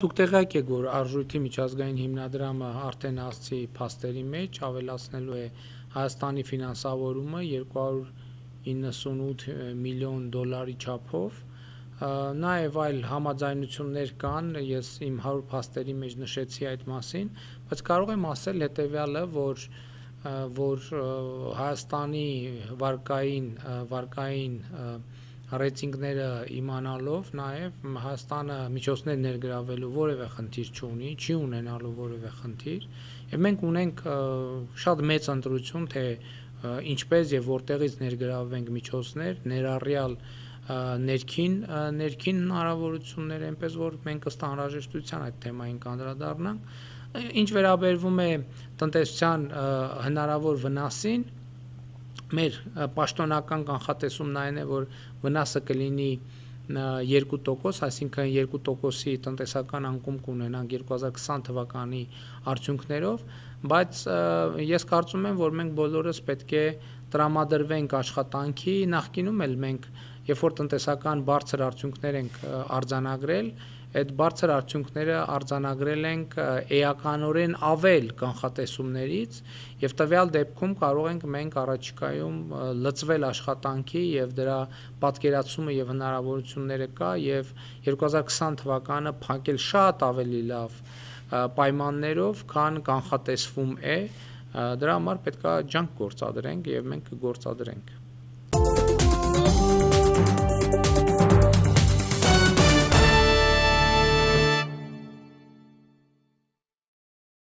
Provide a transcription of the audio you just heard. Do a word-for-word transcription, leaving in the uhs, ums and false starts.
Դուք տեղյակ եք, որ Արժույթի միջազգային հիմնադրամը արդեն հասցի փաստերի մեջ ավելացնելու է Հայաստանի ֆինանսավորումը երկու հարյուր իննսունութ միլիոն դոլարի չափով, նաև այլ համաձայնություններ կան, ես իմ հարյուր փաստերի մեջ նշեցի այդ մասին, բայց կարող եմ ասել հետևյալը, որ որ Հայաստանի վարկային վարկային ռեյտինգները իմանալով նաև Հայաստանը միջոցներ ներգրավելու որևէ խնդիր չունի, չի ունենալու որևէ խնդիր, եւ մենք ունենք շատ մեծ ընտրություն, թե ինչպես եւ որտեղից ներգրավենք միջոցներ, ներառյալ ներքին ներքին հնարավորություններ, այնպես որ մենք ըստ անհրաժեշտության այդ թեմային կանդրադառնանք, ինչ վերաբերվում է տնտեսության հնարավոր վնասին, մեր պաշտոնական կանխատեսումն այն է, որ վնասը կլինի երկու տոկոս, այսինքն երկու տոկոսի տնտեսական անկում կունենանք երկու հազար քսան թվականի արդյունքներով, բայց ես կարծում եմ, որ մենք բոլորս պետք է տրամադրվենք աշխատանքի, նախկինում էլ մենք, երբ որ տնտեսական բարձր արդյունքներ ենք արձանագրել, այդ բարձր արդյունքները արձանագրել ենք էականորեն ավել կանխատեսումներից եւ տվյալ դեպքում կարող ենք մենք առաջիկայում լծվել աշխատանքի եւ դրա պատկերացումը եւ հնարավորությունները կա եւ երկու հազար քսան թվականը փակել շատ ավելի լավ պայմաններով, քան կանխատեսվում է, դրա համար պետք է ջանք գործադրենք եւ մենք կգործադրենք։